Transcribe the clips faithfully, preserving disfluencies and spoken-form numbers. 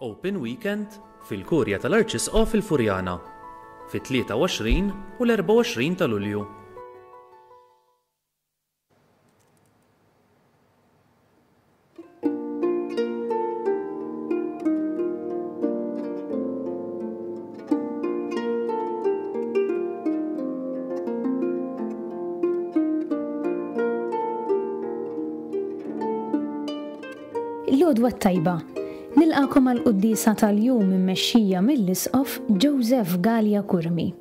Open Weekend fil-Kurja tal-Arċisqof il-Furjana fit-tlieta u għoxrin u l-erbgħa u għoxrin ta' Lulju. L-għodwa t-tajba. Nilqakom għal quddiesa tal-jum immexxija mill-Isqof Joseph Galea Curmi.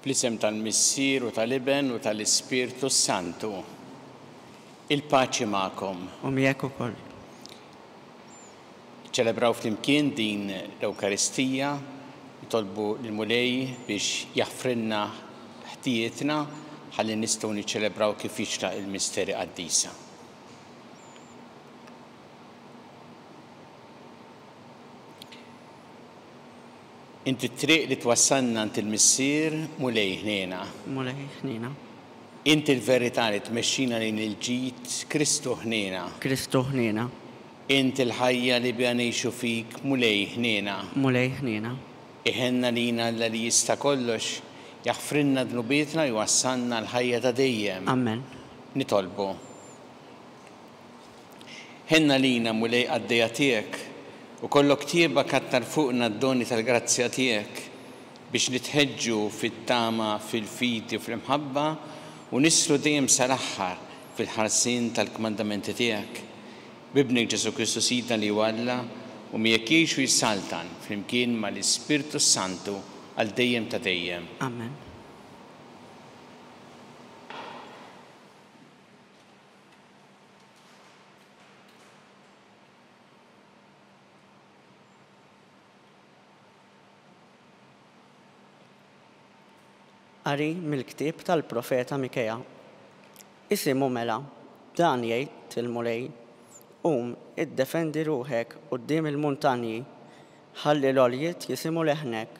Fl-isem tal-Missier u tal-Iben u tal-Ispirtu Santu. Il-paċi magħkom. U miegħek ukoll. Ċelebraw flimkien din l-Ewkaristija, nitolbu lill-Mulej biex jaħfrilna ħtijietna ħalli nistgħu niċċelebraw kif jixraq il-misteri qaddisa. Inti t-triq li twassalna għand il-Missier, Mulej ħniena. Mulej ħniena. Inti l-verità li tmexxina lejn il-ġid, Kristu ħniena. Kristu ħniena. Inti l-ħajja li biha ngħixu fik, Mulej ħniena. Mulej ħniena. Iħenna lina Alla li jista' kollox, jaħfrilna dnubietna u jwassalna l-ħajja ta' dejjem. Amen. Nitolbu. Ħenna lina Mulej qaddejja tiegħek, u kollok tieba kattar fuqna d-doni tal-grazzja tiegħek biex nitħeġġu fit-tama, fil-fidi u fl-imħabba u nislu dejjem sal-aħħar fil-ħarsien tal-kmandamenti tiegħek. B'Ibnek Ġesù Kristu Sidna li huwa Alla u miegħek jgħix u jissaltan flimkien mal-Ispirtu Santu għal dejjem ta' dejjem. Amen. Qari mill-ktieb tal-profeta Mikea. Isimu mela, dan jgħid il-Mulej, qum, iddefendi ruħek quddiem il-muntanji, ħalli l-għoljiet jisimu leħnek.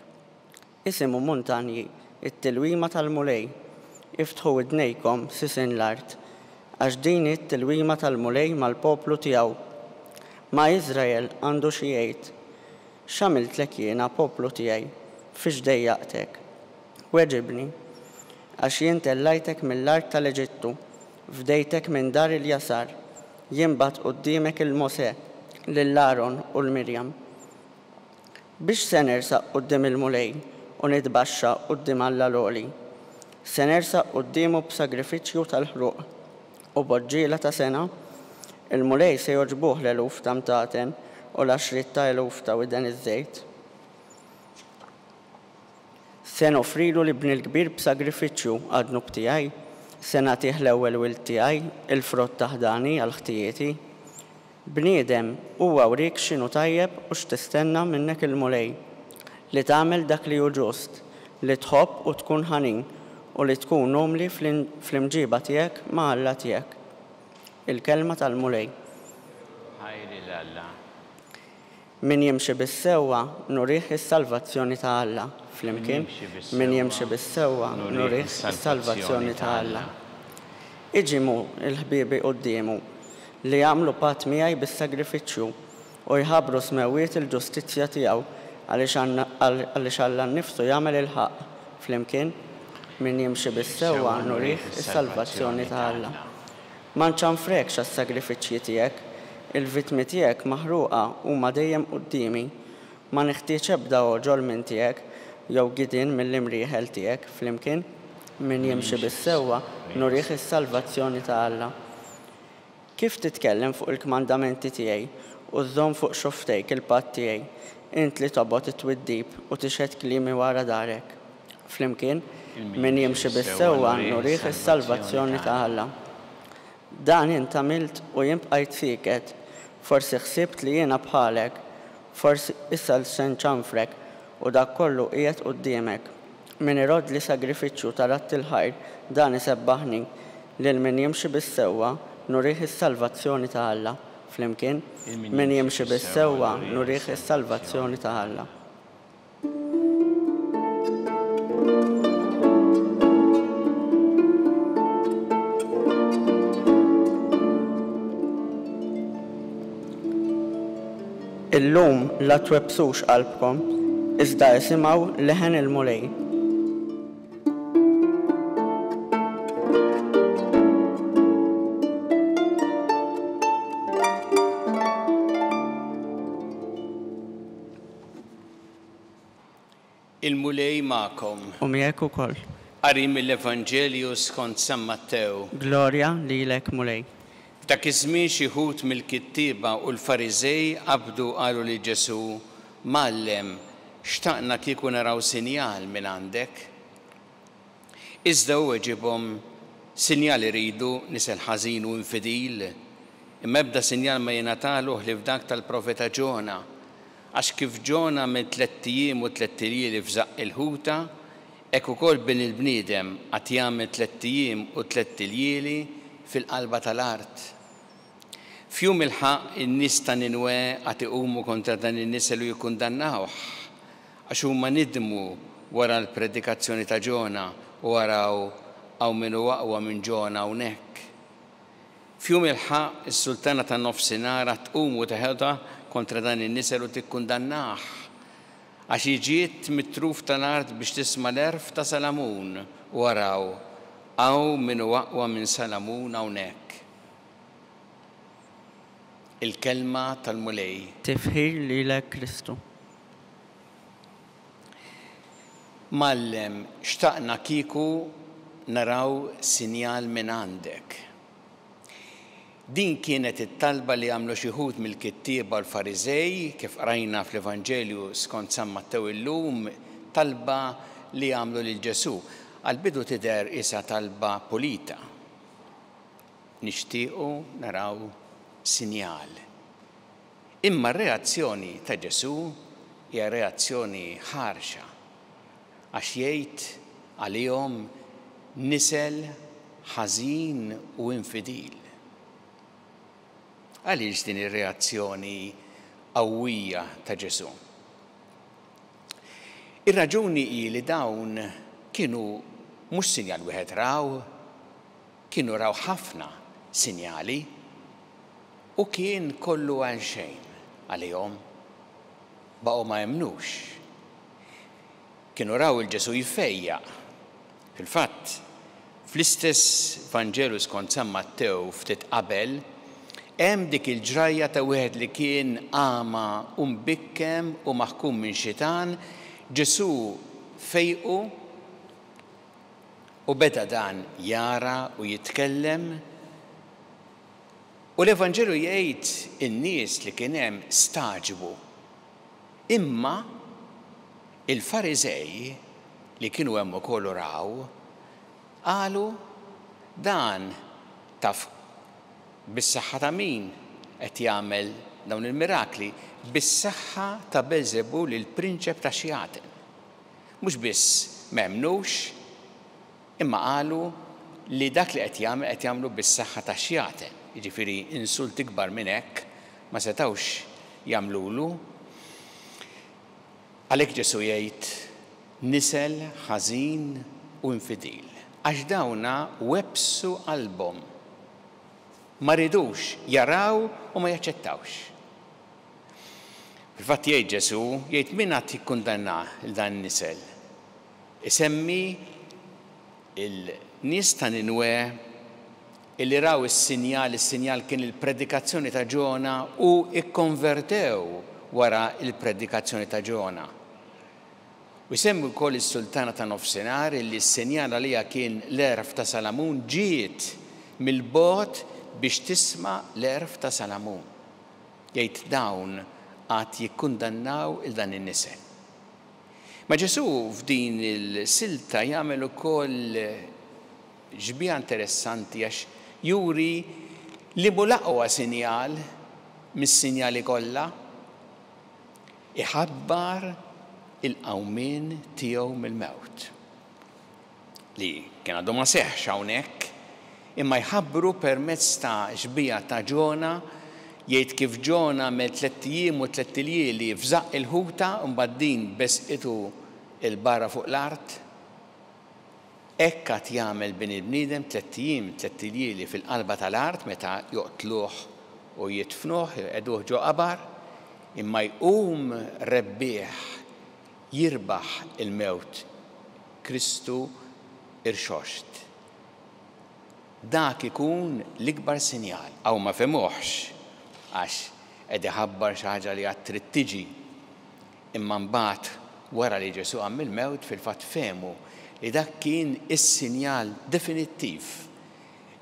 Isimu muntanji, it-tilwima tal-Mulej, iftħu widnejkom sisin l-art, għax din it-tilwima tal-Mulej mal-poplu tiegħu. Ma' Iżrael għandu xi jgħid, x'għamiltlek jiena poplu tiegħi, fiex dejjaqtek? Weġibni, għax jien tellajtek mill-art tal-Eġittu, fdejtek minn dar il-jasar, jien bat quddiemek il-Mosè, lil Aaron u l-Mirjam. Biex se nersaq quddiem il-Mulej u nitbaxxa quddiem Alla l-Għoli, se nersaq quddiemu b'sagrifiċċju tal-ħruq u b'għoġġiela ta' sena, il-Mulej se jogħġbuh l-eluf ta' mtaten u l-għaxriet ta' eluf ta' widen iż-żejt. Se noffrilu l-ibni l-kbir b'sagrifiċċju għad-dnub tiegħi, se nagħtih l-ewwel wild tiegħi, il-frott ta' ħdani għal ħtijieti. Bniedem, huwa wriek x'inhu tajjeb u x'tistenna minnek il-Mulej, li tagħmel dak li hu ġust, li tħobb u tkun ħanin u li tkun umli fl-imġiba tiegħek ma' Alla tiegħek. Il-kelma tal-Mulej. Ħajr lil Alla. Min jimxi bis-sewwa nurih is-salvazzjoni ta' Alla. Flimkien, min jimxi bis-sewwa nurih is-salvazzjoni ta' Alla. Iġimu il-ħbiebi quddiemu li jagħmlu patt miegħi bis-sagrifiċċju u jħabbru smewwiet il-ġustizzja tiegħu għaliex Alla nnifsu jagħmel il-ħaqq. Flimkien, min jimxi bis-sewwa nurih is-salvazzjoni ta' Alla. Ma nċanfrekx għas-sagrifiċċji tiegħek, il-vittmi tiegħek maħruqa huma dejjem quddiemi. Ma neħtieġ ebda għoġol minn tiegħek jew gidien mill-imrieħel tiegħek. Flimkien, min jimxi bis-sewwa nurih is-salvazzjoni ta' Alla. Kif titkellem fuq il-kmandamenti tiegħi u żżomm fuq xofftejk il-patt tiegħi, int li tobgħod it-twiddib u tixhed kliemi wara darek. Flimkien, min jimxi bis-sewwa nurih is-salvazzjoni ta' Alla. Dan int għamilt u jien bqajt sieket, forsi ħsibt li jiena bħalek, forsi issa se nċanfrek u dak kollu qiegħed quddiemek. Min iroddli sagrifiċċju ta' radd il-ħajr, dan isebbaħni. Lil min jimxi bis-sewwa, nurih is-salvazzjoni ta' Alla. Flimkien, min jimxi bis-sewwa, nurih is-salvazzjoni ta' Alla. Illum la twebbsux qalbkom, iżda isimgħu leħen il-Mulej. Il-Mulej magħkom. U miegħek ukoll. Qari mill-Evanġelju skont San Mattew. Glorja lilek, Mulej. F'dak iż-żmien xi wħud mill-kittieba u l-Fariżej qabdu qalu lil Ġesù: Mgħallem, xtaqna kieku naraw sinjal minn għandek. Iżda hu weġibhom: Sinjal iridu nisel ħażin u infidil, imma ebda sinjal ma jingħatalu ħlief dak tal-profeta Ġona. Għax kif Ġona minn tlett ijiem u tlett iljieli f'żaqq il-ħuta, hekk ukoll bin il-bniedem għad jagħmel tlett ijiem u tlett iljieli fil-qalba tal-art. F'jum il-ħaqq in-nies ta' Ninwe għad iqumu kontra dan in-nisel u jikkundannawh, għax huma nidmu wara l-predikazzjoni ta' Ġona u araw hawn min hu aqwa minn Ġona hawnhekk. F'jum il-ħaqq is-sultana ta' nofsinhar għad tqum u teħodha kontra dan in-nisel u tikkundannah, għax hi ġiet mit-truf tal-art biex tisma' l-għerf ta' Salamun u araw hawn min hu aqwa minn Salamun hawnhekk. Il-kelma tal-Mulej. Tifħir lilek, Kristu. Mgħallem, xtaqna kieku naraw sinjal minn għandek. Din kienet it-talba li għamlu xi wħud mill-kittieba u l-Fariżej, kif qrajna fl-Evanġelju skont San Mattew illum, talba li għamlu lil Ġesù. Għal-bidu tidher isa talba pulita. Nixtiequ naraw sinjal. Imma r-reazzjoni ta' Ġesù hija reazzjoni ħarxa, għax jgħid għalihom nisel ħażin u infidil. Għaliex din ir-reazzjoni qawwija ta' Ġesù? Ir-raġuni hi li dawn kienu mhux sinjal wieħed raw, kienu raw ħafna sinjali u kien kollu għal xejn għalihom, baqgħu ma jemmnux. Kienu raw il-Ġesù jfejjaq. Fil-fatt, fl-istess Vanġelu skont San Mattew ftit qabel, hemm dik il-ġrajja ta' wieħed li kien għama u mbikkem u maħkum minn xitan, Ġesù fejqu u beda dan jara u jitkellem. U l-Evanġelju jgħid in-nies li kien hemm staġbu. Imma il-Fariżej li kienu hemm ukoll raw, qalu dan taf bis-saħħa ta' min qed jagħmel dawn il-mirakli, bis-saħħa ta' Belzebul il-prinċep ta' xjaten. Mhux biss m'emmnux, imma qalu li dak li qed jagħmel qed jagħmlu bis-saħħa ta' xjaten. Jiġifieri insult ikbar minn hekk ma setgħux jagħmlulu. Għalhekk Ġesù jgħid nisel ħażin u infidil, għax dawna websu qalbhom, ma ridux jaraw u ma jaċċettawx. Fil-fatt jgħid Ġesù, jgħid min għad jikkundanna lil dan nisel. Isemmi il-nies ta' Ninwe illi raw is-sinjal, is-sinjal kien il-predikazzjoni ta' Ġona u ikkonvertew wara il-predikazzjoni ta' Ġona. U jsemmi wkoll is-sultana ta' nofsinhar illi s-sinjal għaliha kien l-għerf ta' Salamun, ġiet mill-bogħod biex tisma' l-għerf ta' Salamun. Jgħid dawn għad jikkundannaw il dan in-nisel. Ma Ġesù f'din il-silta jagħmel ukoll ġbija interessanti għax juri li mhu l-aqwa sinjal mis-sinjali kollha. Iħabbar il-qawmien tiegħu mill-mewt. Li kien għadu ma seħħx hawnhekk, imma jħabbru permezz ta' xbieha ta' Ġona, jgħid kif Ġona għamel tlett ijiem u tlett iljieli f'żaqq il-ħuta u mbagħad din besqitu 'l barra fuq l-art. Hekk għad jagħmel bin il-bniedem tlett ijiem, tlett iljieli fil-qalba tal-art meta joqtluh u jidfnuh, jqegħduh ġo qabar, imma jqum rebbieħ, jirbaħ il-mewt, Kristu irxoxt. Dak ikun l-ikbar sinjal. Aw ma fehmuhx, għax qed iħabbar xi ħaġa li għad trid tiġi. Imma mbagħad wara li Ġesù qam mill-mewt fil-fatt fehmu li dak kien is-sinjal definittiv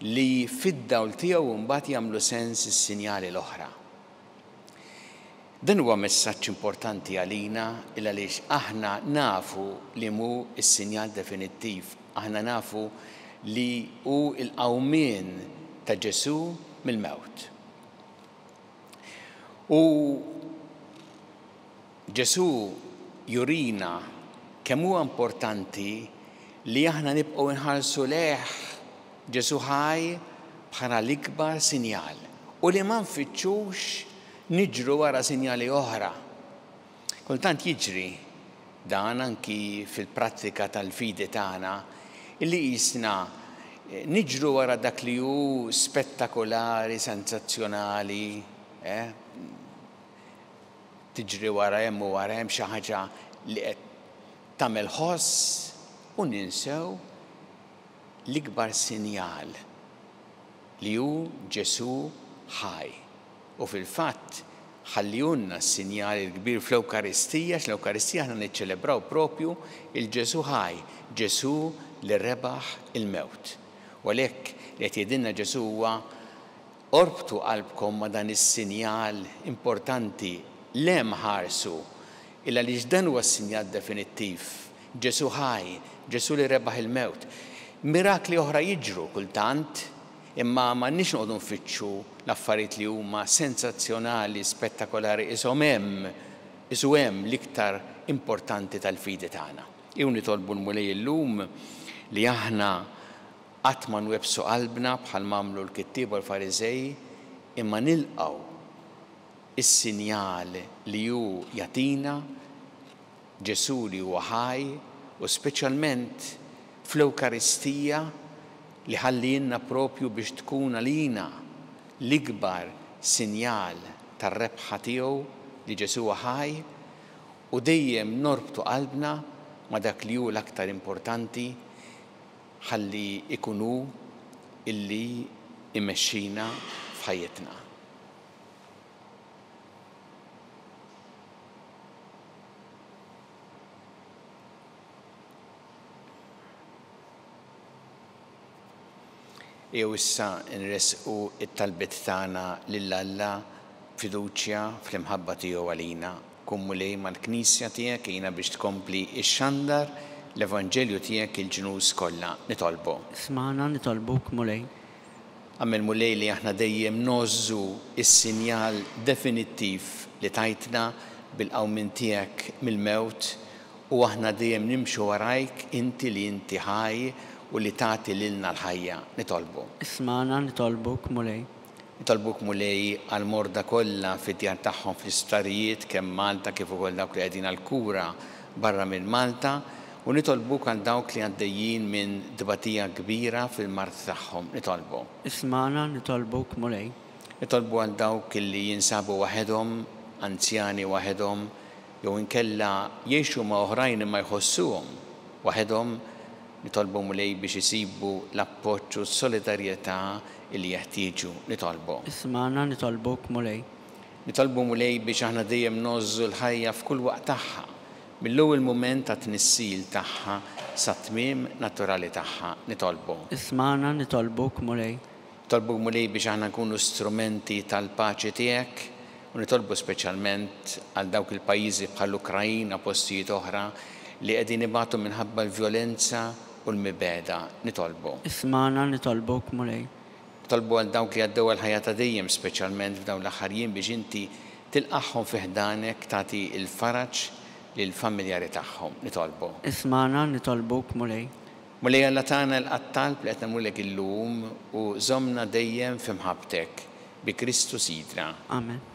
li fid-dawl tiegħu mbagħad jagħmlu sens is-sinjali l-oħra. Dan huwa messaġġ importanti għalina il għaliex aħna nafu li mhu s-sinjal definittiv, aħna nafu li hu l-qawmien ta' Ġesù mill-mewt. U Ġesù jurina kemm huwa importanti li aħna nibqgħu nħarsu lejh Ġesù ħaj bħala l-ikbar sinjal u li ma nfittxux niġru wara sinjali oħra. Kultant jiġri dan anki fil-prattika tal-fidi tagħna illi qisna niġru wara dak li hu spettakolari, sensazzjonali, eh? Tiġri wara hemm u wara hemm xi ħaġa li qed tagħmel ħoss u ninsew l-ikbar sinjal li hu Ġesù ħaj. U fil-fatt ħallihulna s-sinjal il-kbir fl-Ewkaristija, għax l-Ewkaristija aħna niċċelebraw propju il-Ġesù ħaj, Ġesù li rebaħ il-mewt. U għalhekk li qed jgħidilna Ġesù huwa orbtu qalbkom ma' dan is-sinjal importanti, lem ħarsu, illa għaliex dan huwa s-sinjal definittiv, Ġesù ħaj, Ġesù li rebaħ il-mewt. Mirakli oħra jiġru kultant, imma m'għandniex noqogħdu nfittxu l-affarijiet li huma sensazzjonali, spettakolari, ishom hemm, isu hemm l-iktar importanti tal-fidi tagħna. Ejjew nitolbu l-Mulej illum li aħna qatt ma nwebsu qalbna bħal m'għamlu l-kittieba u l-Fariżej, imma nilqgħu is-sinjal li hu jagħtina Ġesù li huwa ħaj, u speċjalment fl-Ewkaristija li ħallielna propju biex tkun għalina l-ikbar sinjal tar-rebħa tiegħu li Ġesù huwa ħaj, u dejjem norbtu qalbna ma' dak li hu l-aktar importanti ħalli ikun hu illi imexxina f'ħajjitna. Jew issa nresqu it-talbiet tagħna lil Alla b'fiduċja fl-imħabba tiegħu għalina. Kun Mulej mal-Knisja tiegħek, għinha biex tkompli ixxandar l-Evanġelju tiegħek il-ġnus kollha. Nitolbu. Smana nitolbuk Mulej. Agħmel Mulej li aħna dejjem nożżu is-sinjal definittiv li tajtna bil-qawmien tiegħek mill-mewt, u aħna dejjem nimxu warajk inti li inti ħaj u li tagħti lilna l-ħajja. Nitolbu. Ismana nitolbuk Mulej. Nitolbuk Mulej għall-morda kollha fid-djar tagħhom fl-isptarijiet kemm Malta kif ukoll dawk li qegħdin għall-kura barra minn Malta, u nitolbuk għal dawk li għaddejjin minn tbatija kbira fil-mard tagħhom. Nitolbu. Ismana nitolbuk Mulej. Nitolbu għal dawk li jinsabu waħedhom, anzjani waħedhom, jew inkella jgħixu ma' oħrajn imma jħossuhom waħedhom. Nitolbu Mulej biex isibu l-appoġġ u s-solidarjetà li jeħtieġu. Nitolbu. Ismana nitolbuk Mulej. Nitolbu Mulej biex aħna dejjem nożżu l-ħajja f'kull waqt tagħha, mill-ewwel mument ta' tnissil tagħha sa tmiem naturali tagħha. Nitolbu. Ismana nitolbuk Mulej. Nitolbu Mulej biex aħna nkunu strumenti tal-paċi tiegħek, u nitolbu speċjalment għal dawk il-pajjiżi bħall-Ukrajna, postijiet oħra li qegħdin ibatu minħabba l-vjolenza u l-mibegħda. Nitolbu. Ismana nitolbuk Mulej. Nitolbu għal dawk li għaddew għall-ħajja ta' dejjem, speċjalment f'dawn l-aħħar jiem, biex inti tilqagħhom fi ħdanek, tagħti l-faraġ lill-familjari tagħhom. Nitolbu. Ismagħna nitolbuk, Mulej. Mulej Alla tagħna l-talb li qed nagħmlulek illum u żommna dejjem fi mħabbtek bi Kristu Sidna. Amen.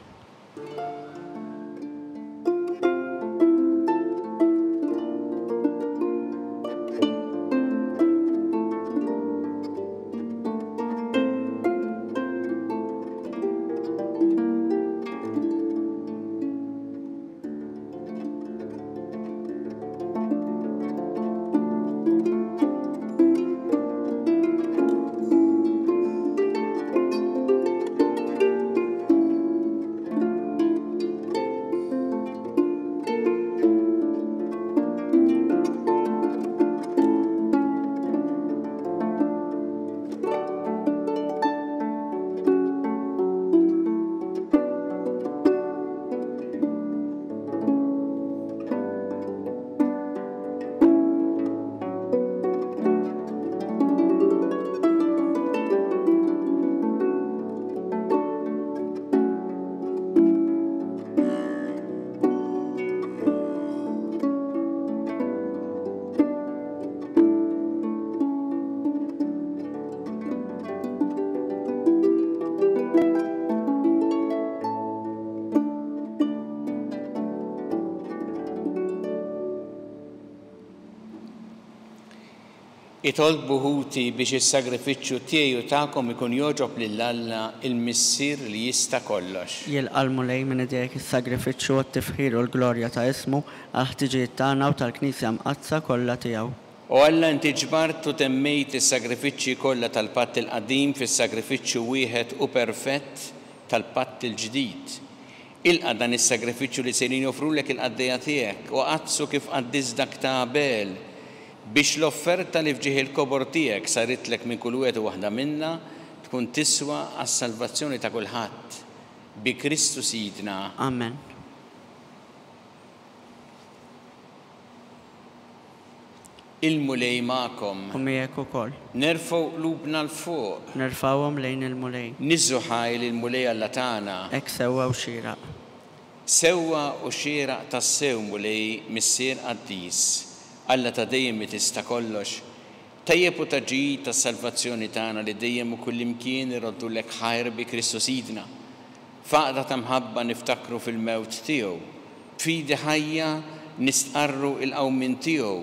Itolbu ħuti biex is-sagrifiċċju tiegħi u tagħkom ikun jogħġob lil Alla il-Missier li jista' kollox. Jilqa' l-Mulej minn idejk is-sagrifiċċju għat-tifħir u l-glorja ta' ismu għall-ħtiġijiet tagħna u tal-Knisja Mqaddsa kollha tiegħu. O Alla, inti ġbart u temmejt is-sagrifiċċji kollha tal-Patt il-Qadim fis-sagrifiċċju wieħed u perfett tal-Patt il-Ġdid. Ilqa' dan is-sagrifiċċju li sejrin joffrulek il-qaddejja tiegħek u qaddsu kif qaddis dak ta' Abel, biex l-offerta li fġieħ il-kobor tiegħek saritlek minn kull wieħed u waħda minna tkun tiswa għas-salvazzjoni ta' kulħadd. Bi Kristu Sidna. Amen. Il-Mulej magħkom. U miegħek ukoll. Nerfgħu qlubna 'l fuq. Nerfgħuhom lejn il-Mulej. Niżżu ħaj lill-Mulej Alla tagħna. Hekk sewwa u xieraq. Sewwa u xieraq tassew Mulej Missier qaddis, Alla ta' dejjem li tista' kollox, tajjeb u ta' ġid tas-salvazzjoni tagħna li dejjem u kullimkien iroddulek ħajr bi Kristu Sidna. F'għaqda ta' mħabba niftakru fil-mewt tiegħu, b'fidi ħajja nistqarru il-qawmien tiegħu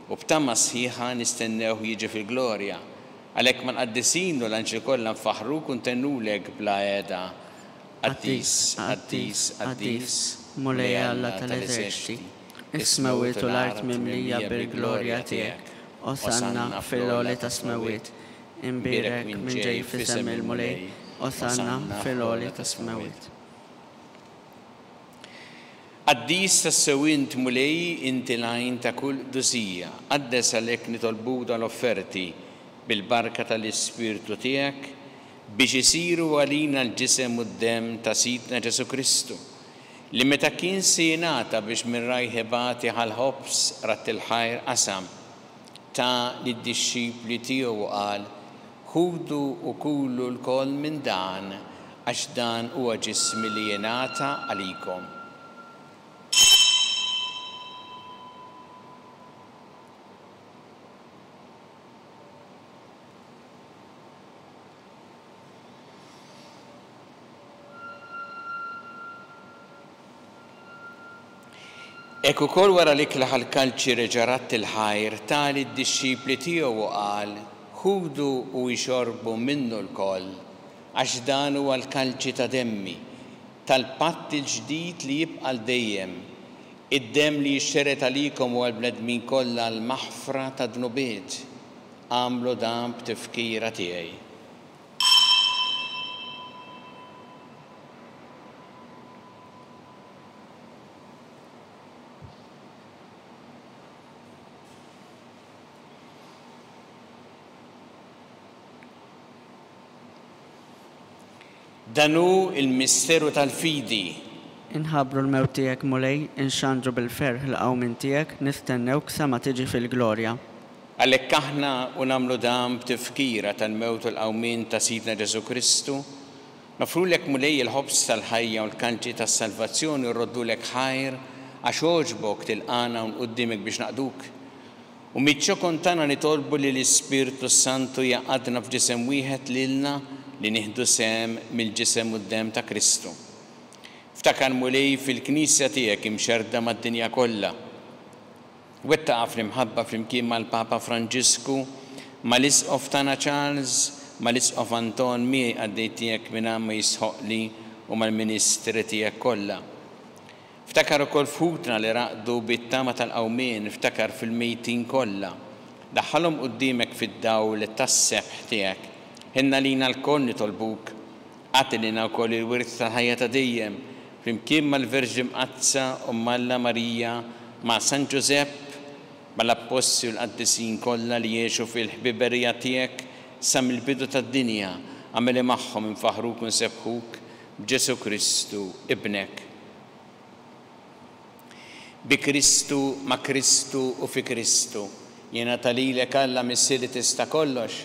u b'tama sħiħa nistennewh jiġi fil-glorja. Għalhekk mal-qaddisin u l-anġli kollha nfaħruk u ntennulek bla għeda. Qaddis, qaddis, qaddis, Mulej Alla tal-eżerċti, is-smewwiet u l-art mimlija bil-glorja tiegħek. Osanna fil-għoli tas-smewwiet. Imbierek minn ġej f'isem il-Mulej. Osanna fil-għoli tas-smewwiet. Qaddis tassew int Mulej, inti l-għajn ta' kull qdusija. Qaddes għalhekk nitolbu dal-offerti bil-barka tal-Ispirtu tiegħek biex isiru għalina l-ġisem u d-demm ta' Sidna Ġesù Kristu, li meta kien se jingħata biex minn rajh ibati ħall-ħobż ratt il-ħajr qasam, ta' lid-dixxipli tiegħu u qal: Ħudu u kulu lkoll minn dan, għax dan huwa ġismi li jingħata għalikom. Hekk ukoll wara li klaħ l-kalċi reġa' ratt il-ħajr ta lid-dixxipli tiegħu u qal: Ħudu u ixorbu minnu lkoll, għax dan huwa l-kalċi ta' demmi, tal-patt il-ġdid li jibqa' l dejjem, id-demm li jixxeret għalikom u għall-bnedmin kollha l-maħfra ta' dnubiet. Agħmlu dan b'tifkira tiegħi. Dan hu il-misteru tal-fidi. Inħabbru l-mewt tiegħek Mulej, inxandru bil-ferħ l-qawmien tiegħek, nistennewk sa ma tiġi fil-glorja. Għalhekk aħna u nagħmlu dan b'tifkira tal-mewt u l-qawmien ta' Sidna Ġesù Kristu, nofrulek Mulej il-ħobż tal-ħajja u l-kanċi tas-salvazzjoni u rroddulek ħajr għax għoġbok tilqagħna hawn quddiemek biex naqduk. U miċ-ċokon tagħna nitolbu li l-Ispirtu Santu jgħaqqadna f'ġisem wieħed lilna li nieħdu sehem mill-ġisem u d-demm ta' Kristu. Ftakar, Mulej, fil-Knisja tiegħek imxerda mad-dinja kollha. Wettaqha fl-imħabba flimkien mal-Papa Franġisku, mal-Isqof tagħna Charles, mal-Isqof Anton miegħi qaddej tiegħek mingħajr ma jistħoqqli u mal-ministri tiegħek kollha. Ftakar ukoll f'ħutna li raqdu bit-tama tal-qawmien, ftakar fil-mejtin kollha. Daħħalhom quddiemek fid-dawl tas-sebħ tiegħek. Ħenna lina lkoll nitolbuk. Agħti lilna wkoll il-wirt tal-ħajja ta' dejjem, flimkien mal-Verġni Mqaddsa Omm Alla Marija, ma' San Ġużepp, mal-Appostli u l-qaddisin kollha li jgħixu fil-ħbiberija tiegħek sa mill-bidu tad-dinja, agħmel li magħhom infaħruk u nsebbħuk b'Ġesu Kristu ibnek. Bi Kristu, ma' Kristu u fi Kristu, jingħata lilek Alla Missier li tista' kollox,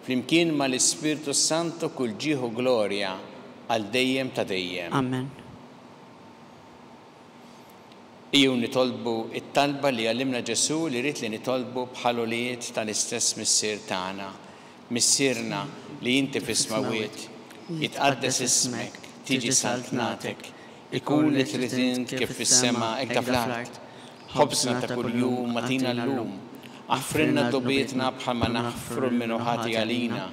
flimkien mal-Ispirtu Santu kull ġieħ u glorja għal dejjem ta' dejjem. Amen. Ejjew nitolbu it-talba li għallimna Ġesu li ried li nitolbu bħal ulied tal-istess Missier tagħna. Missierna li inti fis-smawwiet, jitqaddes ismek, tiġi saltnatek, ikun li trid int kif fis-sema hekk fl-art. Ħobżna ta' kuljum agħtina llum. Aħfrilna dnubietna bħalma naħfru lil min hu ħati għalina,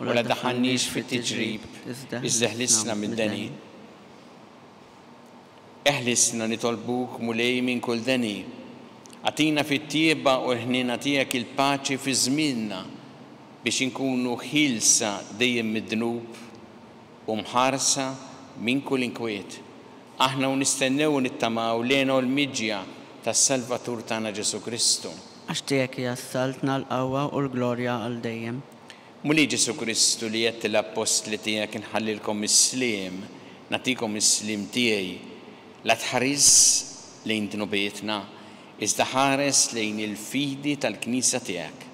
u la daħħalniex fit-tiġrib, iżda ħlisna mid-deni. Eħlisna nitolbuk, Mulej, minn kull deni. Agħtina fit-tjieba u l-ħniena tiegħek il-paċi fi żmienna biex inkunu ħielsa dejjem mid-dnub u mħarsa minn kull inkwiet. Aħna u nistennew u nittamaw lejn l-miġja tas-Salvatur tagħna Ġesu Kristu. Għax tiegħek hija s-saltna, l-qawwa u l-glorja għal dejjem. Mulej Ġesu Kristu li għedt l-appostli tiegħek inħallilkom is-sliem, nagħtikom is-sliem tiegħi. La tħares lejn dnubietna, iżda ħares lejn il-fidi tal-Knisja tiegħek.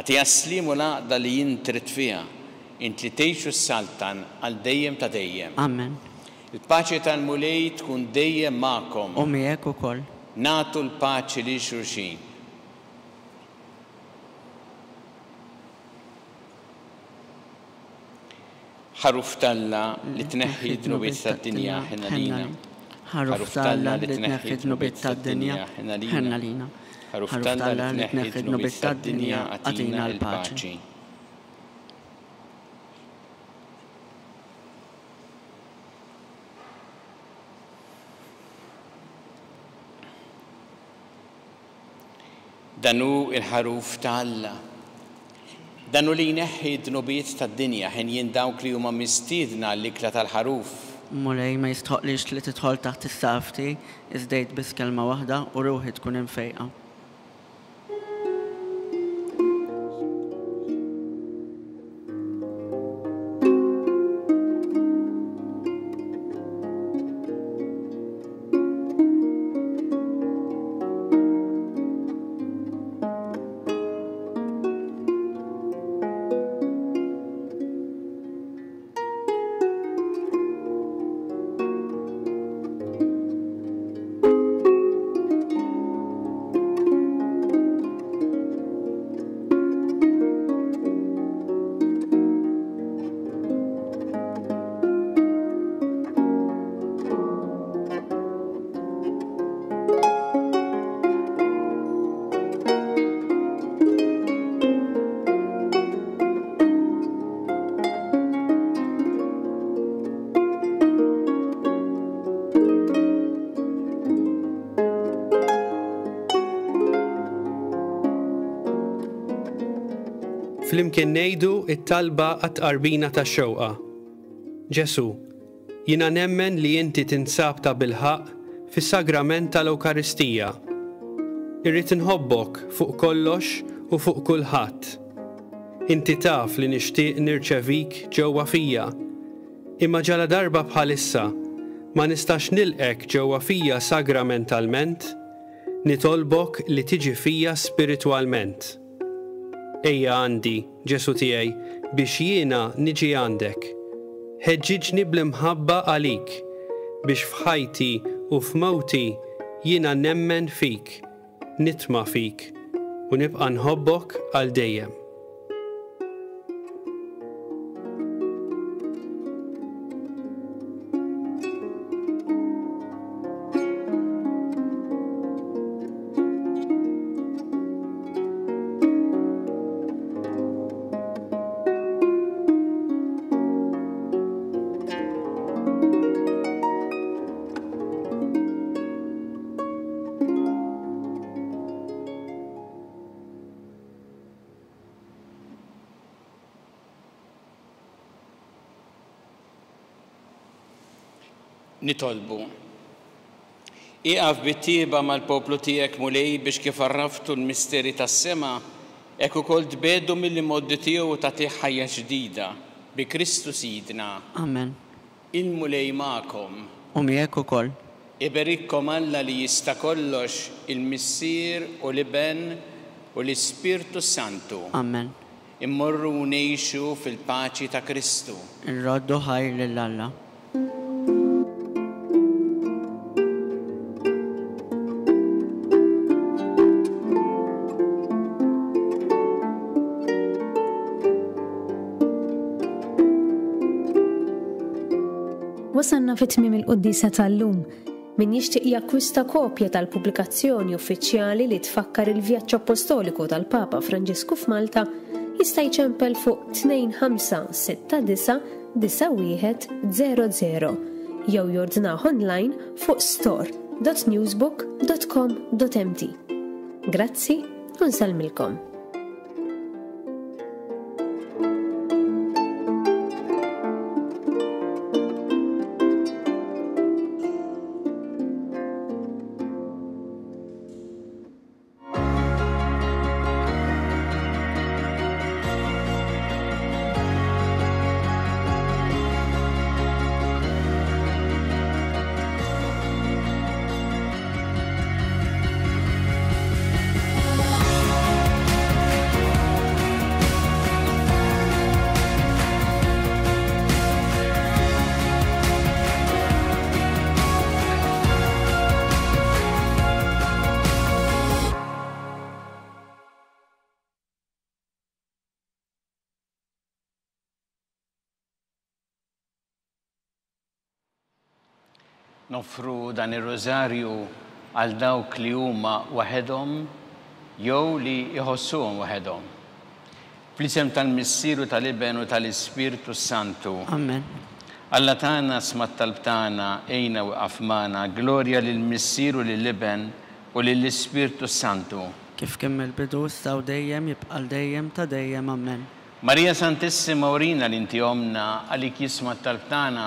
Agħtiha s-sliem u l-għaqda li int trid fiha, int li tgħix u ssaltan għal dejjem ta' dejjem. Amen. Il-paċi tal-Mulej tkun dejjem magħkom. U miegħek ukoll. Nagħtu l-paċi lil xulxin. Ħaruf t'Alla li tneħħi d-dnubiet tad-dinja, ħenna lina. Ħaruf t'Alla li tneħħi d-dnubiet tad-dinja, ħenna lina. Ħaruf t'Alla li tneħħi d-dnubiet tad-dinja, agħtina l-paċi. Dan hu il-ħaruf ta' Alla. Dan hu li jneħħi d-dnubiet tad-dinja, ħenjin dawk li huma mistiedna għall-ikla tal-ħaruf. Mulej, ma jistħoqlix li tidħol taħt is-saqaf tiegħi, iżda għid biss kelma waħda u ruħi tkun imfejqa. Flimkien ngħidu it-talba għat-tqarbina tax-xewqa. Ġesu, jiena nemmen li inti tinsab ta' bilħaqq fis-sagrament tal-Ewkaristija. Irrid inħobbok fuq kollox u fuq kulħadd. Inti taf li nixtieq nirċevik ġewwa fija, imma ġala darba bħalissa ma nistax nilqek ġewwa fija sagramentalment, nitolbok li tiġi fija spiritwalment. Ejja għandi, Ġesu tiegħi, biex jiena niġi għandek. Ħeġġiġni bl-imħabba għalik, biex f'ħajti u f'mewti jiena nemmen fik, nitma' fik u nibqa' nħobbok għal dejjem. Nitolbu. Ieqaf bit-tjieba mal-poplu tiegħek Mulej biex kif għarraftu l-misteri tas-sema, hekk ukoll tbegħdu mill-imgħoddi tiegħu u tagħtih ħajja ġdida bi Kristu Sidna. Amen. Il-Mulej magħkom. U miegħek ukoll. Iberikkom Alla li jista' kollox, il-Missier u l-Iben u l-Ispirtu Santu. Amen. Immorru u ngħixu fil-paċi ta' Kristu. Irroddu ħajr lil Alla. Wasanna fi tmiem il-quddiesa tal-lum. Min jixtieq jakkwista kopja tal-pubblikazzjoni uffiċjali li tfakkar il-vjaġġ apostoliku tal-Papa Franġisku f'Malta jista' jċempel fuq tnejn ħamsa sitta disa' disa' wieħed zero zero jew jordnah online fuq store dot newsbook dot com dot m t. Grazzi u nsellmilkom. Noffru dan ir-rożarju għal dawk li huma waħedhom jew li jħossuhom waħedhom. Fl-isem tal-Missier u tal-Iben u tal-Ispirtu Santu. Amen. Alla tagħna sma' t-talb tagħna, ejna u waqaf magħna, glorja lill-Missier u lill-Iben u lill-Ispirtu Santu. Kif kien mill-bidu issa u dejjem jibqa' l dejjem ta' dejjem. Amen. Marija Santissima urina li inti omna, għalik jisma' t-talb tagħna,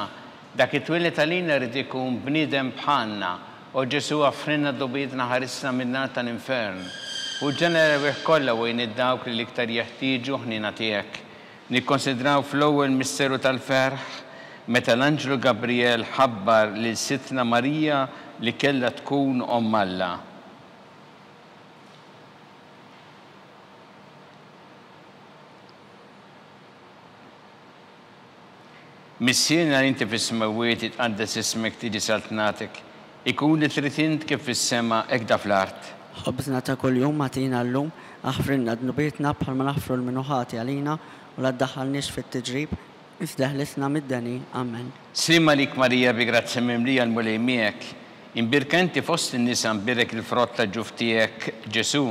dak it-twieled għalina rrid ikun bniedem bħalna, o Ġesu offrinna dnubietna ħarisna min-nar tal-infern. U ġenera l-erwieħ kollha u għin id-dawk li l-iktar jeħtieġu ħniena tiegħek. Nikkonsidraw fl-ewwel misteru tal-ferħ meta l-Anġlu Gabriel ħabbar lil Sidtna Marija li kellha tkun omm Alla. Missierna li inti fis-smewwiet itqaddes ismek, tiġi saltnatek, ikun li trid int kif fis-sema hekk da fl-art. Ħobżna ta' kuljum agħtina llum, aħfrilna dnubietna bħalma naħfru l min hu ħati għalina, u la ddaħħalniex fit-tiġrib, iżda ħlisna mid-deni. Amen. Slim għalik Marija bi grazzja mimlija l-Mulej miegħek, imbierka inti fost in-nisa, mbierek il-frott ta' ġuf tiegħek Ġesu.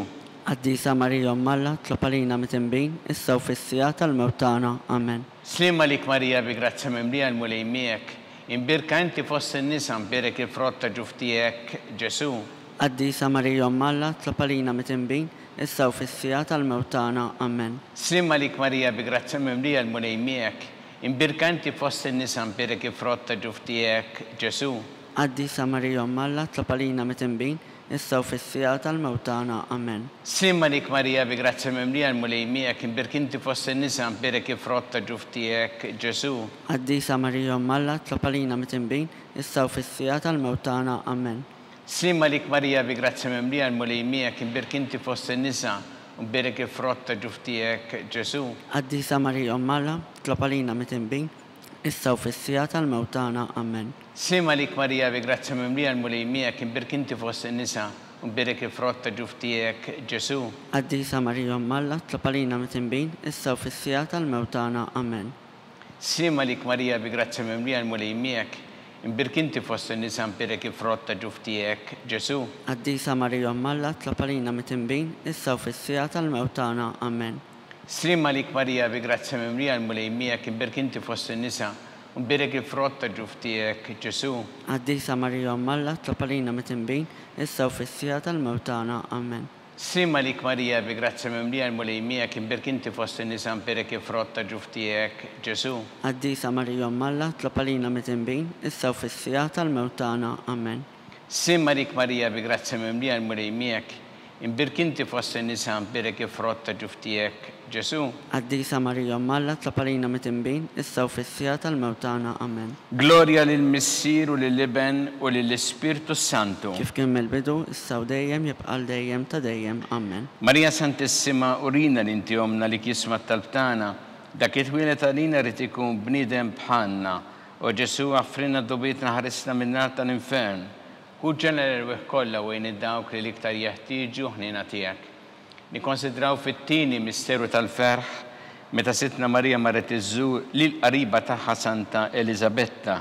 Qaddisa Marija Omm Alla, tlob għalina mitinbin, issa u fis-siegħa tal-mewt tagħna. Amen. Slim għalik Marija bi grazzja mimlija l-Mulej miegħek, imbierka inti fost in-nisa, mbierek il-frott ta' ġuf tiegħek Ġesu. Qaddisa Marija Omm Alla, tlob għalina mitinbin, issa u fis-siegħa tal-mewt tagħna. Amen. Slim għalik Marija bi grazzja mimlija l-Mulej miegħek, imbierka inti fost in-nisa, mbierek il-frott ta' ġuf tiegħek Ġesu. Qaddisa Marija Omm Alla, tlob għalina mitinbin, issa u fis-siegħa tal-mewt tagħna. Amen. Slim għalik Marija bi grazzja mimlija l-Mulej miegħek, imbierka inti fost in-nisa, mbierek il-frott ta' ġuf tiegħek Ġesu. Qaddisa Marija Omm Alla, tlob għalina mitinbin, issa u fis-siegħa tal-mewt tagħna. Amen. Slim għalik Marija bi grazzja mimlija l-Mulej miegħek, imbierka inti fost in-nisa, mbierek il-frott ta' ġuf tiegħek Ġesu. Qaddisa Marija Omm Alla, tlob għalina mitinbin, issa u fis-siegħa tal-mewt tagħna. Amen. Sliem għalik Marija, bi grazzja mimlija, l-Mulej miegħek, imbierka inti fost in-nisa, u mbierek il-frott ta' ġuf tiegħek, Ġesù. Qaddisa Marija Omm Alla, itlob għalina midinbin, issa u fis-siegħa tal-mewt tagħna. Amen. Sliem għalik Marija, bi grazzja mimlija, l-Mulej miegħek, imbierka inti fost in-nisa, mbierek il-frott ta' ġuf tiegħek, Ġesù. Qaddisa Marija Omm Alla, itlob għalina midinbin, issa u fis-siegħa tal-mewt tagħna. Amen. Sliem għalik Marija, bi grazzja mimlija, l-Mulej miegħek, imbierka inti fost in-nisa, u mbierek il-frott ta' ġuf tiegħek, Ġesù. Qaddisa Marija Omm Alla, itlob għalina midinbin, issa u fis-siegħa tal-mewt tagħna. Amen. Sliem għalik Marija, bi grazzja mimlija, l-Mulej miegħek, imbierka inti fost in-nisa, mbierek il-frott ta' ġuf tiegħek, Ġesù. Qaddisa Marija Omm Alla, itlob għalina midinbin, issa u fis-siegħa tal-mewt tagħna. Amen. Sliem għalik Marija, bi grazzja mimlija, l-Mulej miegħek, imbierka inti fost in-nisa, mbierek il-frott ta' ġuf tiegħek, Ġesù. Qaddisa Marija Omm Alla, itlob għalina midinbin, issa u fis-siegħa tal-mewt tagħna. Amen. Glorja lill-Missier u lill-Iben u lill-Ispirtu Santu. Kif kien mill-bidu, issa u dejjem, jibqa' għal dejjem ta' dejjem. Amen. Marija Santissima, urina li inti omna li jisma' t-talb tagħna, dak it-twieled għalina rid ikun bniedem bħalna. O Ġesù, offrina dnubietna, ħarisna min-nar tal-infern. Ħu ġenera l-erwieħ kollha u għin dawk li l-iktar jeħtieġu ħniena tiegħek. Nikkonsidraw fit-tieni misteru tal-ferħ meta Sidtna Marija marret iżżur lil qariba tagħha Santa Eliżabetta.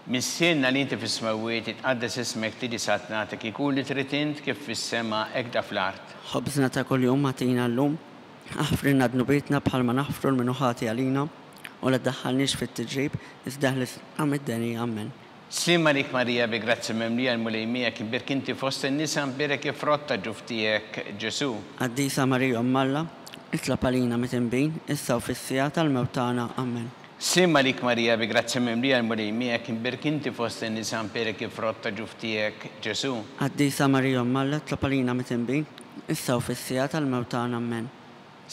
Missierna li inti fis-smewwiet, itqaddes ismek, tiġi saltnatek, ikun li trid int kif fis-sema hekk fl-art. Ħobżna ta' kuljum agħtina llum, aħfrilna dnubietna bħalma naħfru lil min hu ħati għalina, u la ddaħħalniex fit-tiġrib, iżda ħlisna mid-deni. Amen. Sliem għalik Marija, bi grazzja mimlija, l-Mulej miegħek, imbierka inti fost in-nisa, mbierek il-frott ta' ġuf tiegħek, Ġesù. Qaddisa Marija Omm Alla, itlob għalina midinbin, issa u fis-siegħa tal-mewt tagħna. Amen. Sliem għalik Marija, bi grazzja mimlija, l-Mulej miegħek, imbierka inti fost in-nisa, mbierek il-frott ta' ġuf tiegħek, Ġesù. Qaddisa Marija Omm Alla, itlob għalina midinbin, issa u fis-siegħa tal-mewt tagħna. Amen.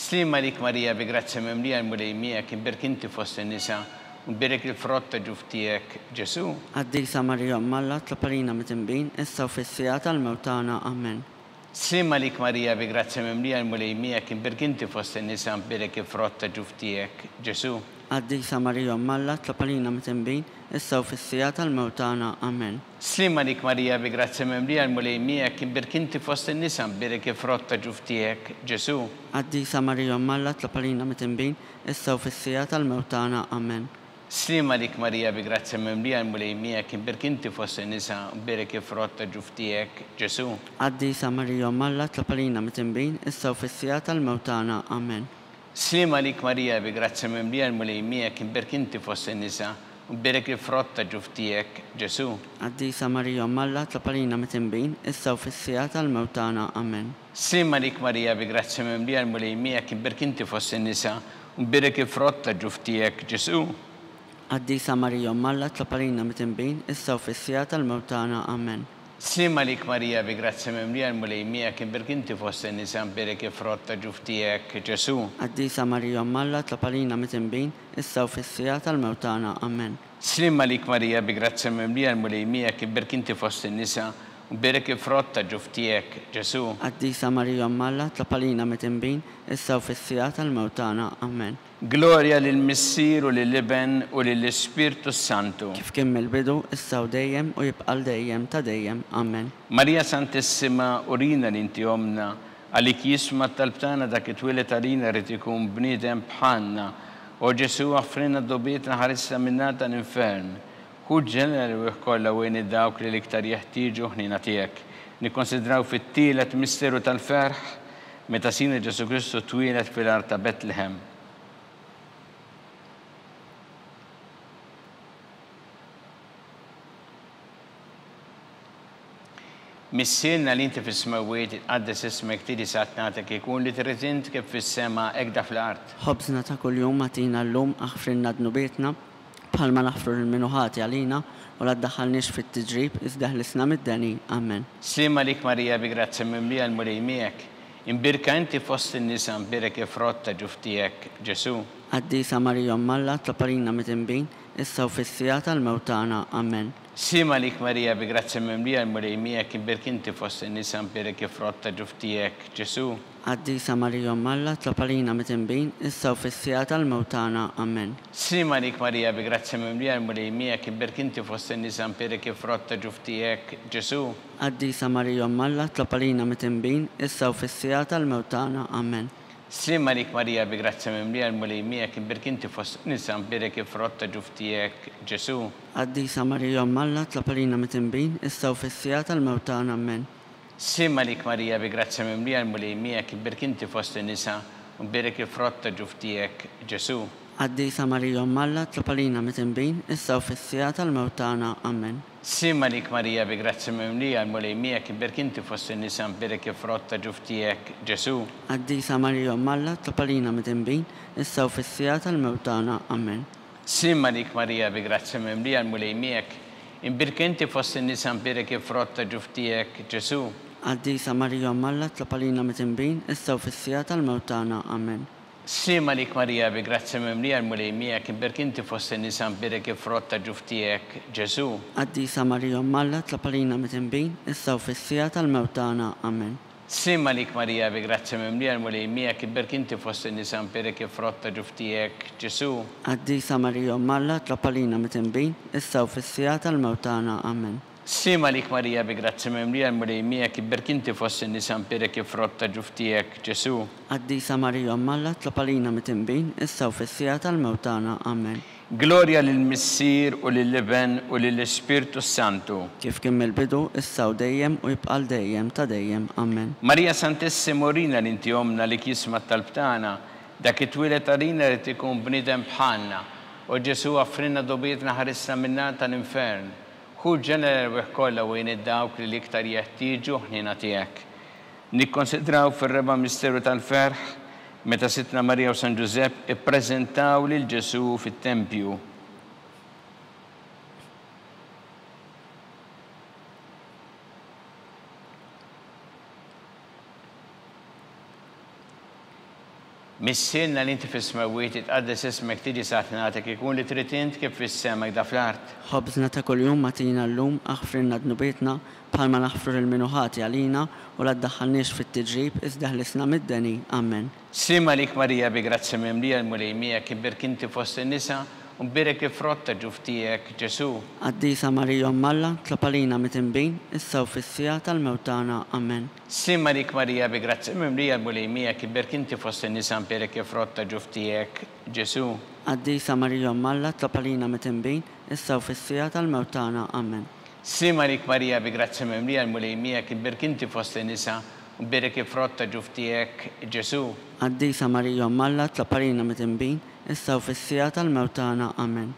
Sliem għalik Marija, bi grazzja mimlija, l-Mulej miegħek, imbierka inti fost in-nisa, mbierek il-frott ta' ġuf tiegħek, Ġesù. Qaddisa Marija Omm Alla, itlob għalina midinbin, issa u fis-siegħa tal-mewt tagħna. Amen. Sliem għalik Marija, bi grazzja mimlija, l-Mulej miegħek, imbierka inti fost in-nisa, mbierek il-frott ta' ġuf tiegħek, Ġesù. Qaddisa Marija Omm Alla, itlob għalina midinbin, issa u fis-siegħa tal-mewt tagħna. Amen. Sliem għalik Marija, bi grazzja mimlija, l-Mulej miegħek, imbierka inti fost in-nisa, mbierek il-frott ta' ġuf tiegħek, Ġesù. Qaddisa Marija Omm Alla, itlob għalina midinbin, issa u fis-siegħa tal-mewt tagħna. Amen. Sliem għalik Marija, bi grazzja mimlija, l-Mulej miegħek, imbierka inti fost in-nisa, mbierek il-frott ta' ġuf tiegħek, Ġesù. Qaddisa Marija Omm Alla, itlob għalina midinbin, issa u fis-siegħa tal-mewt tagħna. Amen. Sliem għalik Marija, bi grazzja mimlija, l-Mulej miegħek, imbierka inti fost in-nisa, mbierek il-frott ta' ġuf tiegħek, Ġesù. Qaddisa Marija Omm Alla, itlob għalina midinbin, issa u fis-siegħa tal-mewt tagħna. Amen. Sliem għalik Marija, bi grazzja mimlija, l-Mulej miegħek, imbierka inti fost in-nisa, mbierek il-frott ta' ġuf tiegħek, Ġesù. Qaddisa Marija Omm Alla, itlob għalina midinbin, issa u fis-siegħa tal-mewt tagħna. Amen. Sliem għalik Marija, bi grazzja mimlija, l-Mulej miegħek, imbierka inti fost in-nisa, mbierek il-frott ta' ġuf tiegħek, Ġesù. Qaddisa Marija Omm Alla, itlob għalina midinbin, issa u fis-siegħa tal-mewt tagħna. Amen. Sliem għalik Marija, bi grazzja mimlija, l-Mulej miegħek, imbierka inti fost in-nisa, mbierek il-frott ta' ġuf tiegħek, Ġesù. Qaddisa Marija Omm Alla, itlob għalina midinbin, issa u fis-siegħa tal-mewt tagħna. Amen. Glorja lill-Missier u lill-Iben u lill-Ispirtu Santu. Kif kien mill-bidu, issa u dejjem, u jibqa' għal dejjem ta' dejjem. Amen. Marija Santissima, urina li inti omna, għalik jisma' t-talb tagħna dak it-twieled għalina rid ikun bniedem bħalna. O Ġesù, offrina dnubietna, ħarisna min-nar tal-infern. Ħu ġenera l-erwieħ kollha u għin dawk li l-iktar jeħtieġu ħniena tiegħek. Nikkonsidraw fit-tielet misteru tal-ferħ meta Sidna Ġesù Kristu twieled fil-għar ta' Betlehem. Missierna li inti fis-smewwiet, itqaddes ismek, tiġi saltnatek, ikun li trid int kif fis-sema hekk fl-art. Ħobżna ta' kuljum agħtina llum, aħfrilna dnubietna bħalma naħfru lil min hu ħati għalina, u la ddaħħalniex fit-tiġrib, iżda ħlisna mid-deni. Amen. Sliem għalik Marija, bi grazzja mimlija, l-Mulej miegħek. Imbierka inti fost in-nisa, mbierek il-frott ta' ġuf tiegħek, Ġesù. Qaddisa Marija Omm Alla, itlob għalina midinbin, issa u fis-siegħa tal-mewt tagħna. Amen. Sliem għalik Marija, bi grazzja mimlija, l-Mulej miegħek, imbierka inti fost in-nisa, imbierek il-frott ta' ġuf tiegħek, Ġesù. Qaddisa Marija Omm Alla, itlob għalina midinbin, issa u fis-siegħa tal-mewt tagħna. Amen. Sliem għalik Marija, bi grazzja mimlija, l-Mulej miegħek, imbierka inti fost in-nisa, imbierek il-frott ta' ġuf tiegħek, Ġesù. Qaddisa Marija Omm Alla, itlob għalina midinbin, issa u fis-siegħa tal-mewt tagħna. Amen. Sliem għalik Marija, bi grazzja mimlija, l-Mulej miegħek, imbierka inti fost in-nisa, imbierek il-frott ta' ġuf tiegħek, Ġesù. Qaddisa Marija Omm Alla, itlob għalina midinbin, issa u fis-siegħa tal-mewt tagħna. Amen. Sliem għalik Marija, bi grazzja mimlija, l-Mulej miegħek, imbierka inti fost in-nisa, imbierek il-frott ta' ġuf tiegħek, Ġesù. Qaddisa Marija Omm Alla, itlob għalina midinbin, issa u fis-siegħa tal-mewt tagħna. Amen. Sliem għalik Marija, bi grazzja mimlija, l-Mulej miegħek, imbierka inti fost in-nisa, imbierek il-frott ta' ġuf tiegħek, Ġesù. Qaddisa Marija Omm Alla, itlob għalina midinbin, issa u fis-siegħa tal-mewt tagħna. Amen. Sliem għalik Marija, bi grazzja mimlija, l-Mulej miegħek, imbierka inti fost in-nisa, imbierek il-frott ta' ġuf tiegħek, Ġesù. Qaddisa Marija Omm Alla, itlob għalina midinbin, issa u fis-siegħa tal-mewt tagħna. Amen. Sliem għalik Marija, bi grazzja mimlija, l-Mulej miegħek, imbierka inti fost in-nisa, imbierek il-frott ta' ġuf tiegħek, Ġesù. Qaddisa Marija Omm Alla, itlob għalina midinbin, issa u fis-siegħa tal-mewt tagħna. Amen. Sliem għalik Marija, bi grazzja mimlija, l-Mulej miegħek, imbierka inti fost in-nisa, imbierek il-frott ta' ġuf tiegħek, Ġesù. Qaddisa Marija Omm Alla, itlob għalina midinbin, issa u fis-siegħa tal-mewt tagħna. Amen. Sliem għalik Marija, bi grazzja mimlija, l-Mulej miegħek, imbierka inti fost in-nisa, imbierek il-frott ta' ġuf tiegħek, Ġesù. Qaddisa Marija Omm Alla, itlob għalina midinbin, issa u fis-siegħa tal-mewt tagħna. Amen. Glorja lill-Missier u lill-Iben u lill-Ispirtu Santu. Kif kien mill-bidu, issa u dejjem u jibqa' għal dejjem ta' dejjem. Amen. Marija Santissima, urina li inti ommna li jisma' t-talb tagħna, dak it-twieled għalina li ikun bniedem bħalna. O Ġesù, aħfrilna dnubietna, ħarisna min-nar tal-infern. Ħu l-ġenna l-erwieħ kollha u għin dawk li l-iktar jeħtieġu ħniena tiegħek. Nikkonsidraw fir-reba' misteru tal-ferħ meta Sidtna Marija u San Ġużepp ippreżentaw lil Ġesù fit-tempju. Missierna li inti fis-smewwiet, itqaddes ismek, tiġi saltnatek, ikun li trid int kif fis-sema hekk fl-art. Ħobżna ta' kuljum agħtina llum, aħfrilna dnubietna bħalma naħfru lil min hu ħati għalina, u la ddaħħalniex fit-tiġrib iżda ħlisna mid-deni. Amen. Sliem għalik Marija, bi grazzja mimlija, l-Mulej miegħek, imbierka inti fost in-nisa, u mbierek il-frott ta' ġuf tiegħek, Ġesù. Qaddisa Marija Omm Alla, itlob għalina midinbin, issa u fis-siegħa tal-mewt tagħna. Amen. Sliem għalik Marija, bi grazzja mimlija, l-Mulej miegħek, imbierka inti fost in-nisa, mbierek il-frott ta' ġuf tiegħek, Ġesù. Qaddisa Marija Omm Alla, itlob għalina midinbin, issa u fis-siegħa tal-mewt tagħna. Amen. Sliem għalik Marija, bi grazzja mimlija, l-Mulej miegħek, imbierka inti fost in-nisa, u mbierek il-frott ta' ġuf tiegħek, Ġesù. Qaddisa Marija Omm Alla, itlob għalina midinbin, issa u fis-siegħa tal-mewt tagħna. Amen.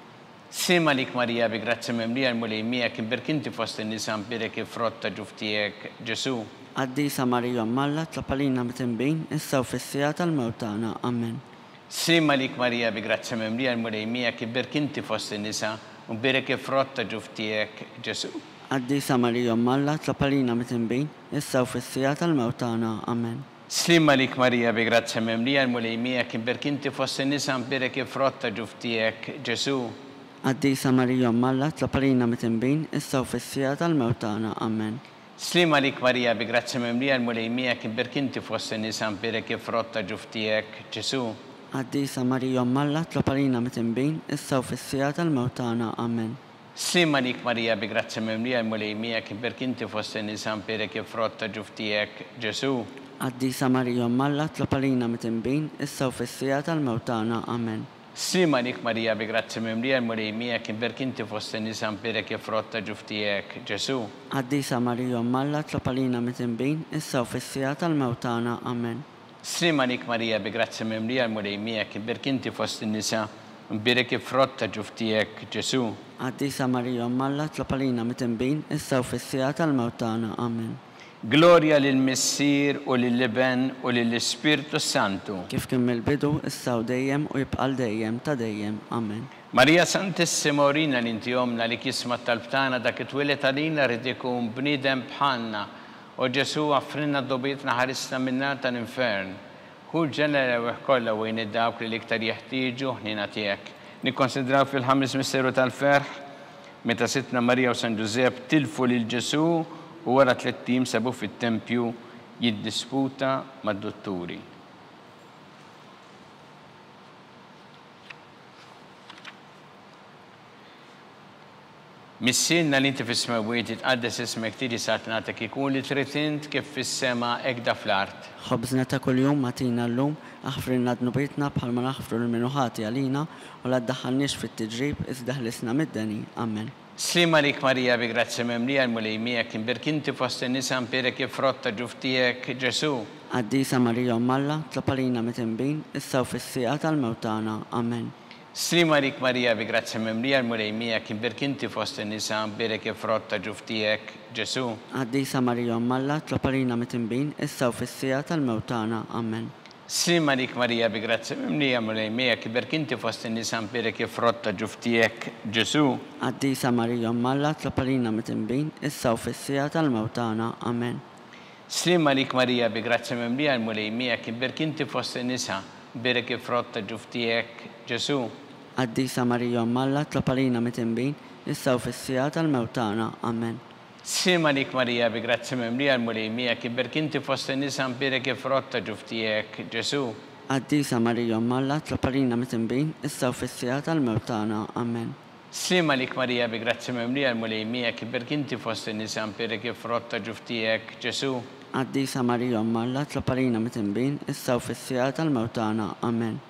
Sliem għalik Marija, bi grazzja mimlija, l-Mulej miegħek, imbierka inti fost in-nisa, mbierek il-frott ta' ġuf tiegħek, Ġesù. Qaddisa Marija Omm Alla, itlob għalina midinbin, issa u fis-siegħa tal-mewt tagħna. Amen. Sliem għalik Marija, bi grazzja mimlija, l-Mulej miegħek, imbierka inti fost in-nisa, u mbierek il-frott ta' ġuf tiegħek, Ġesù. Qaddisa Marija Omm Alla, itlob għalina midinbin, issa u fis-siegħa tal-mewt tagħna. Amen. Sliem għalik Marija, bi grazzja mimlija, l-Mulej miegħek, imbierka inti fost in-nisa, mbierek il-frott ta' ġuf tiegħek, Ġesù. Qaddisa Marija Omm Alla, itlob għalina midinbin, issa u fis-siegħa tal-mewt tagħna. Amen. Sliem għalik Marija, bi grazzja mimlija, l-Mulej miegħek, imbierka inti fost in-nisa, mbierek il-frott ta' ġuf tiegħek, Ġesù. Qaddisa Marija Omm Alla, itlob għalina midinbin, issa u fis-siegħa tal-mewt tagħna. Amen. Sliem għalik Marija, bi grazzja mimlija, l-Mulej miegħek, imbierka inti fost in-nisa, mbierek il-frott ta' ġuf tiegħek, Ġesù. Qaddisa Marija Omm Alla, itlob għalina midinbin, issa u fis-siegħa tal-mewt tagħna. Amen. Sliem għalik Marija, bi grazzja mimlija, l-Mulej miegħek, imbierka inti fost in-nisa, mbierek il-frott ta' ġuf tiegħek, Ġesù. Qaddisa Marija Omm Alla, itlob għalina midinbin, issa u fis-siegħa tal-mewt tagħna. Amen. Sliem għalik Marija, bi grazzja mimlija, l-Mulej miegħek, imbierka inti fost in-nisa, mbierek il-frott ta' ġuf tiegħek, Ġesù. Qaddisa Marija Omm Alla, itlob għalina midinbin, issa u fis-siegħa tal-mewt tagħna. Amen. Glorja lill-Missier u lill-Iben u lill-Ispirtu Santu. Kif kien mill-bidu, issa u dejjem u jibqa' għal dejjem ta' dejjem. Amen. Marija Santissima, urina li inti ommna li jisma' t-talb tagħna, dak it-twieled għalina rid ikun bniedem bħalna. O Ġesù, aħfrilna dnubietna, ħarisna min-nar tal-infern. Ħu l-ġenna l-erwieħ kollha u għin dawk li l-iktar jeħtieġu ħniena tiegħek. Nikkonsidraw fil-ħames misteru tal-ferħ meta Sidtna Marija u San Ġużepp tilfu lil Ġesù u wara tlett ijiem sabuh fit-tempju jiddisputa mad-dutturi. Missierna li inti fis-smewwiet, jitqaddes ismek, tiġi saltnatek, ikun li trid int kif fis-sema hekk da fl-art. Ħobżna ta' kuljum agħtina llum, aħfrilna dnubietna bħalma naħfru lil min hu ħati għalina, u la ddaħħalniex fit-tiġrib, iżda ħlisna mid-deni. Amen. Sliem għalik Marija, bi grazzja mimlija, l-Mulej miegħek, imbierk inti fost in-nisa, imbierek il-frott ta' ġuf tiegħek, Ġesù. Qaddisa Marija Omm Alla, tlob għalina mitinbin, issa u fis-siegħa tal-mewt tagħna. Amen. Sliem għalik Marija, bi grazzja mimlija, l-Mulej miegħek, imbierk inti fost in-nisa, imbierek il-frott ta' ġuf tiegħek, Ġesù. Qaddisa Marija Omm Alla, tlob għalina mitinbin, issa u fis-siegħa tal-mewt tagħna. Amen. Sliem għalik Marija, bi grazzja mimlija, l-Mulej miegħek, imbierk inti fost in-nisa, imbierek il-frott ta' ġuf tiegħek, Ġesù. Qaddisa Marija Omm Alla, tlob għalina mitinbin, issa u fis-siegħa tal-mewt tagħna. Amen. Sliem għalik Marija, bi grazzja mimlija, l-Mulej miegħek, imbierk inti fost in-nisa, imbierek il-frott ta' ġuf tiegħek, Ġesù. Qaddisa Marija Omm Alla, tlob għalina mitinbin, issa u fis-siegħa tal-mewt tagħna. Amen. Sliem għalik Marija, bi grazzja mimlija, l-Mulej miegħek, imbierk inti fost in-nisa, imbierek il-frott ta' ġuf tiegħek, Ġesù. Qaddisa Marija Omm Alla, tlob għalina mitinbin, issa u fis-siegħa tal-mewt tagħna. Amen. Sliem għalik Marija, bi grazzja mimlija, l-Mulej miegħek, imbierk inti fost in-nisa, imbierek il-frott ta' ġuf tiegħek, Ġesù. Qaddisa Marija Omm Alla, tlob għalina mitinbin, issa u fis-siegħa tal-mewt tagħna. Amen.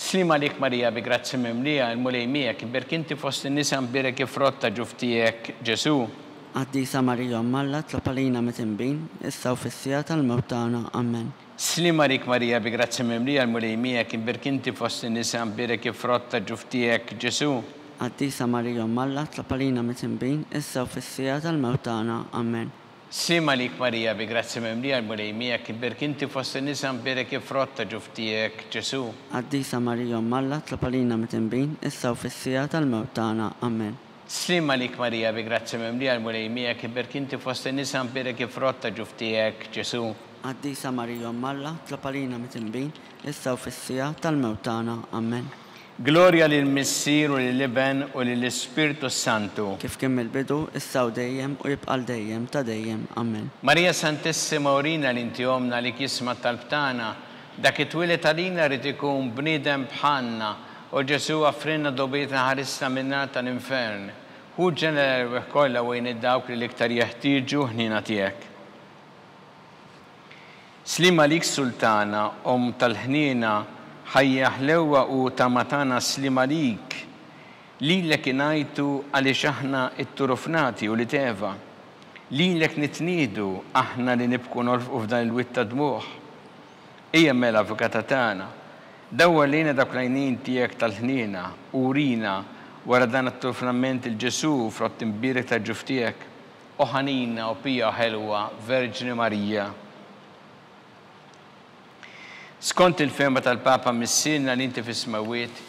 Sliem għalik Marija, bi grazzja mimlija, l-Mulej miegħek, imbierk inti fost in-nisa, imbierek il-frott ta' ġuf tiegħek, Ġesù. Qaddisa Marija Omm Alla, tlob għalina mitinbin, issa u fis-siegħa tal-mewt tagħna. Amen. Sliem għalik Marija, bi grazzja mimlija, l-Mulej miegħek, imbierk inti fost in-nisa, imbierek il-frott ta' ġuf tiegħek, Ġesù. Qaddisa Marija Omm Alla, tlob għalina mitinbin, issa u fis-siegħa tal-mewt tagħna. Amen. Sliem għalik Marija, bi grazzja mimlija, l-Mulej miegħek, imbierk inti fost in-nisa, imbierek il-frott ta' ġuf tiegħek, Ġesù. Qaddisa Marija Omm Alla, tlob għalina mitinbin, issa u fis-siegħa tal-mewt tagħna. Amen. Sliem għalik Marija, bi grazzja mimlija, l-Mulej miegħek, imbierk inti fost in-nisa, imbierek il-frott ta' ġuf tiegħek, Ġesù. Qaddisa Marija Omm Alla, tlob għalina mitinbin, issa u fis-siegħa tal-mewt tagħna. Amen. Glorja lill-Missier u lill-Iben u lill-Ispirtu Santu. Kif kien mill-bidu, issa u dejjem u jibqa' l dejjem ta' dejjem. Amen. Marija Santissima, urina li inti omna li jisma' t-talb tagħna, dak it-twieled għalina rid ikun bniedem bħalna, u Ġesù offrilna dnubietna ħarisna min-nar tal-infern. Hu ġenera l-erwieħ kollha u għin dawk li l-iktar jeħtieġu ħniena tiegħek. Sliem għalik Sultana, Omm tal-ħniena, ħajja ħlewwa u tama tagħna, sliem għalik. Lilek ingħajtu għaliex aħna t-turufnati u li teva. Lilek nitniedu aħna li nibku nolfqu f'dan il-wied ta' dmugħ. Ejja mela avukata tagħna, dawwar lejna dawk l-għajnejn tiegħek tal-ħniena u urina wara dan it-turfnament il-Ġesù frott imbierek tal-ġuf tiegħek. O ħanina u pija ħelwa, Verġni Marija. Skont il-fehma tal-Papa Missierna li inti fis-smewwiet,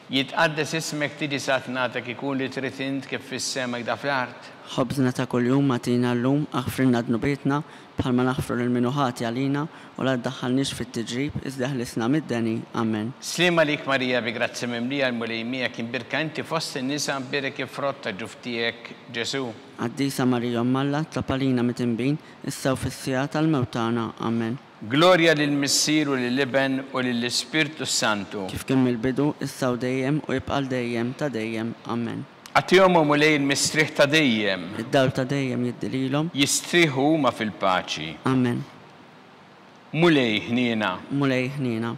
jitqaddes ismek, tiġi saltnatek, ikun li trid int kif fis-sema hekk da fl-art. Ħobżna ta' kuljum agħtina llum, aħfrilna dnubietna bħalma naħfru lil min hu ħati għalina, u la ddaħħalniex fit-tiġrib, iżda ħlisna mid-deni. Amen. Sliem għalik Marija, bi grazzja mimlija, l-Mulej miegħek, imbierka inti fost in-nisa, imbierek il-frott ta' ġuf tiegħek, Ġesù. Qaddisa Marija Omm Alla, tlob għalina mitinbin, issa u fis-siegħa tal-mewt tagħna. Amen. Glorja lill-Missier u lill-Iben u lill-Ispirtu Santu. Kif kien mill-bidu, issa u dejjem u jibqa' l dejjem ta' dejjem. Amen. Agħtihom, o Mulej, il-mistrieħ ta' dejjem. Id-dawl ta' dejjem jiddi lilhom. Jistrieħu huma fil-paċi. Amen. Mulej ħniena. Mulej ħniena.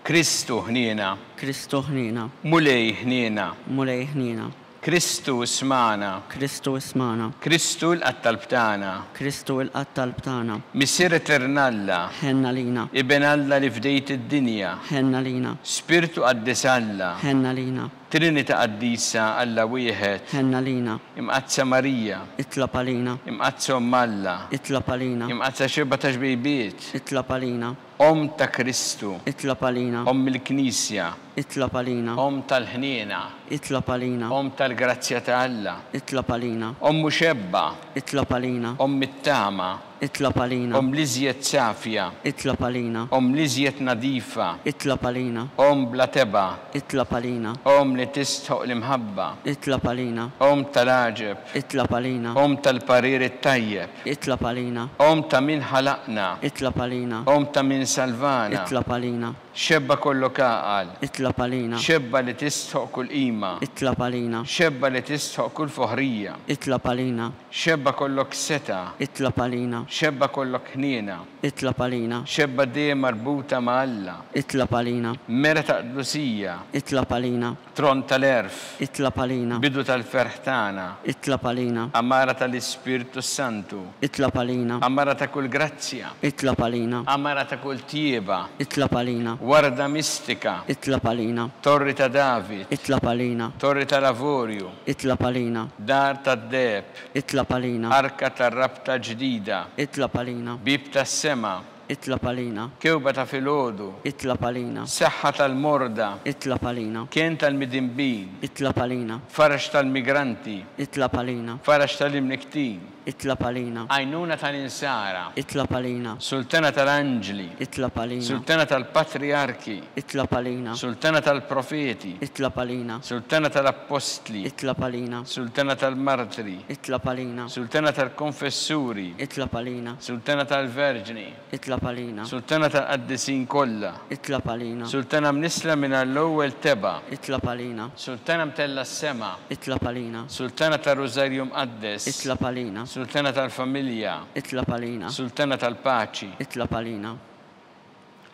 Kristu ħniena. Kristu ħniena. Mulej ħniena. Mulej ħniena. Kristu ismagħna. Kristu ismagħna. Kristu ilqa' t-talb tagħna. Kristu ilqa' t-talb tagħna. Missier Etern Alla. Ħenna lina. Iben Alla li fdejt id-dinja. Ħenna lina. Spirtu Qaddis Alla. Ħenna lina. Trinità Qaddisa Alla wieħed. Ħenna lina. Imqaddsa Marija. Itlob għalina. Imqaddsa Omm Alla. Itlob għalina. Imqaddsa xirba ta' xbejbiet. Itlob għalina. Omm ta' Kristu. Itlob għalina. Omm il-Knisja. Itlob għalina. Omm tal-ħniena. Itlob għalina. Omm tal-grazzja ta' Alla. Itlob għalina. Omm muxebba. Itlob għalina. Omm it-tama. Itlob għalina. Omm l-iżjed safja. Itlob għalina. Omm l-iżjed nadifa. Itlob għalina. Omm bla tebgħa. Itlob għalina. Omm li tistħoq l-imħabba. Itlob għalina. Omm tal-għaġeb. Itlob għalina. Omm tal-parir it-tajjeb. Itlob għalina. Omm ta' min ħalaqna. Itlob għalina. Omm ta' min salvana. Itlob għalina. Xebba kollok għaqal. Itlob għalina. Xebba li tistħoq kull qima. Itlob għalina. Xebba li tistħoq kull foħrija. Itlob għalina. Xebba kollok seta. Itlob għalina. Xebba kollok ħniena. Itlob għalina. Xebba dejjem marbuta ma' Alla. Itlob għalina. Mera ta' qdusija. Itlob għalina. Tron tal-għerf. Itlob għalina. Bidu tal-ferħ tagħna. Itlob għalina. Amara tal-Ispirtu Santu. Itlob għalina. Amara ta' kull grazzja. Itlob għalina. Amara ta' kull tjieba. Itlob għalina. Warda mistika. Itlob għalina. Torri ta' David. Itlob għalina. Torri tal-Avorju. Itlob għalina. Dar tad-deheb. Itlob għalina. Arka tar-rabta ġdida. Itlob għalina. Bieb tas-sema. Itlob għalina. Kewba ta' filgħodu. Itlob għalina. Saħħa tal-morda. Itlob għalina. Kien tal-midinbin. Itlob għalina. Faraġ tal-migranti. Itlob għalina. Faraġ tal-imniktin. Itlob għalina. Għajnuna tal-insara. Itlob għalina. Sultana tal-anġli. Itlob għalina. Sultana tal-patriarki. Itlob għalina. Sultana tal-profeti. Itlob għalina. Sultana tal-appostli. Itlob għalina. Sultana tal-martri. Itlob għalina. Sultana tal-konfessuri. Itlob għalina. Sultana tal-verġni. Itlob għalina. Sultana tal-qaddisin kollha. Itlob għalina. Sultana mnisla minn l-ewwel tebgħa. Itlob għalina. Sultana mtella s-sema. Itlob għalina. Sultana tar-Rużarju Mqaddes. Itlob għalina. Sultana tal-familja. Itlob għalina. Sultana tal-paċi. Itlob għalina.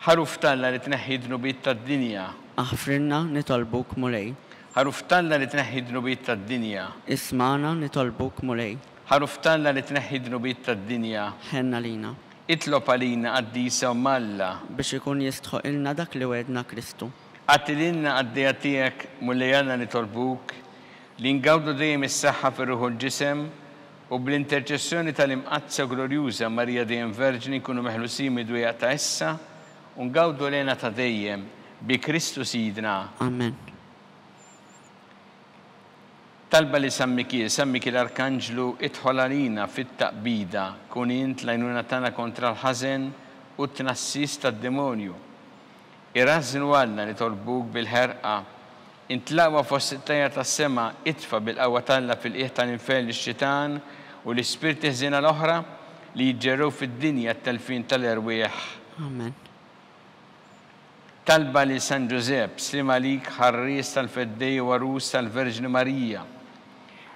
Ħaruf t'Alla li tneħħi dnubiet tad-dinja. Aħfrilna nitolbuk Mulej. Ħaruf t'Alla li tneħħi dnubiet tad-dinja. Ismagħna nitolbuk Mulej. Ħaruf t'Alla li tneħħi dnubiet tad-dinja. Ħenna lina. Itlob għalina qaddisa Omm Alla. Biex ikun jistħoqilna dak li wegħedna Kristu. Agħti lilna qaddejja tiegħek Mulej Alla nitolbuk li ngawdu dejjem is-saħħa fir-ruħ u l-ġisem u bl-interċessjoni tal-imqaddsa glorjuża Marija dejjem Verġni nkunu meħlusin mid-dwejjaq ta' issa u ngawdu l-hena ta' dejjem bi Kristu Sidna. Amen. Talba li San Mikiel, San Mikiel Arkanġlu, idħol għalina fit-taqbida, kun int l-għajnuna tagħna kontra l-ħażen u t-tnassis tad-demonju. Irażżnu Alla nitolbuk bil-ħerqa, intlaqwa fost it-tajja tas-sema, itfa' bil-qawwa t'Alla fil-qiegħ tal-infern lix-xitan u l-ispirti ħżiena l-oħra li jiġġerrew fid-dinja t-telfin tal-erwieħ. Amen. Talba li San Ġużepp, sliem għalik ħarries tal-Feddej u għarus tal-Verġni Marija.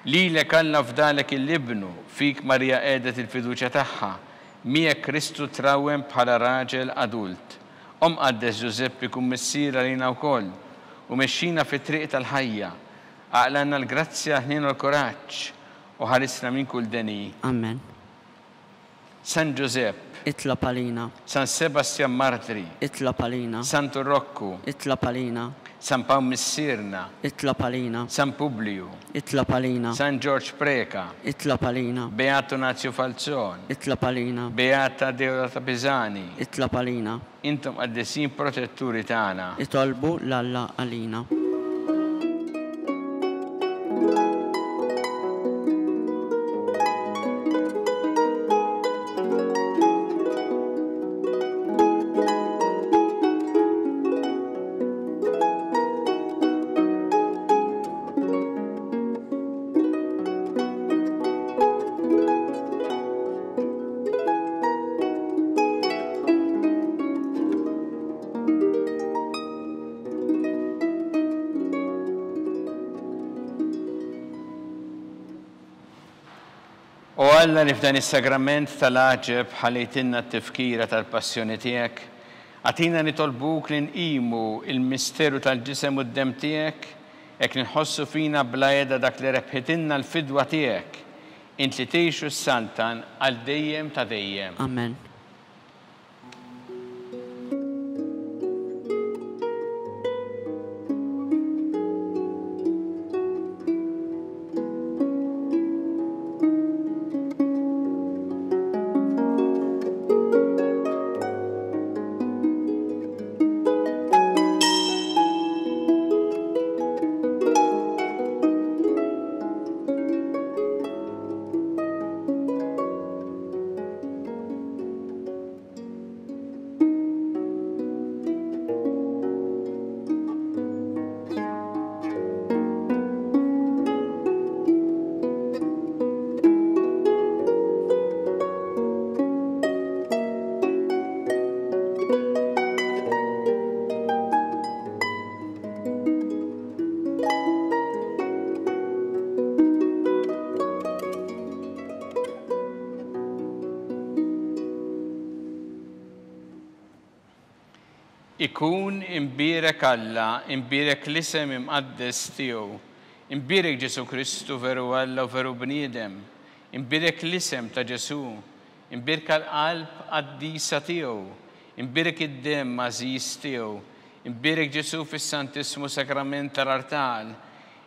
Lilek Alla fdalek il-Ibnu, fik Marija qiegħdet il-fiduċja tagħha, miegħek Kristu trawwem bħala raġel adult. Om qaddes Ġużeppi kun missier għalina wkoll u mexxina fit-triq tal-ħajja. Aqlanna l-grazzja, ħnien u l-kuraġġ u ħarisna minn kull deni. Amen. San Ġużepp, Itlob għalina. San Sebastian Martri, Itlob għalina. Santu Rokku, Itlob għalina. San Pawl Missierna, Itlob għalina. San Publiju, Itlob għalina. San Ġorġ Preca, Itlob għalina. Beato Nazio Falzon, Itlob għalina. Beata Deodata Pisani, Itlob għalina. Intom qaddisin protetturi tagħna. Itolbu l-Alla għalina. O Alla li f'dan is-sagrament tal-għaġeb ħallejtilna t-tifkira tal-passjoni tiegħek, agħtina nitolbuk li nqimu il-misteru tal-ġisem u d-demm tiegħek, hekk nħossu fina bla qiegħda dak li rebħitilna l-fidwa tiegħek, int li tgħix u s-saltan għal dejjem ta' dejjem. Amen. Ikun imbierek Alla, imbierek l-isem imqaddes tiegħu. Imbierek Ġesù Kristu veru Alla u veru bniedem. Imbierek l-isem ta' Ġesù. Imbierka l-qalb qaddisa tiegħu. Imbierek id-demm għażiż tiegħu. Imbierek Ġesù fis-Santissmu Sagrament tal-Artal.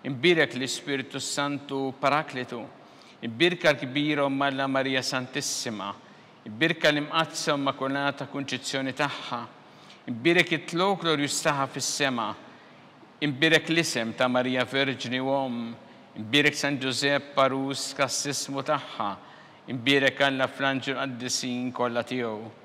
Imbierek l-Ispirtu Santu Paraklitu. Imbierka l-kbira Omm Alla Marija Santissima. Imbierka l-Imqaddsa Immakulata Kunċizzjoni tagħha. Imbierek it-tlugħ glorjuż tagħha fis-sema. Imbierek l-isem ta' Marija Verġni u Omm. Imbierek San Ġużepp għarus kastissmu tagħha. Imbierek Alla fl-anġli qaddisin kollha tiegħu.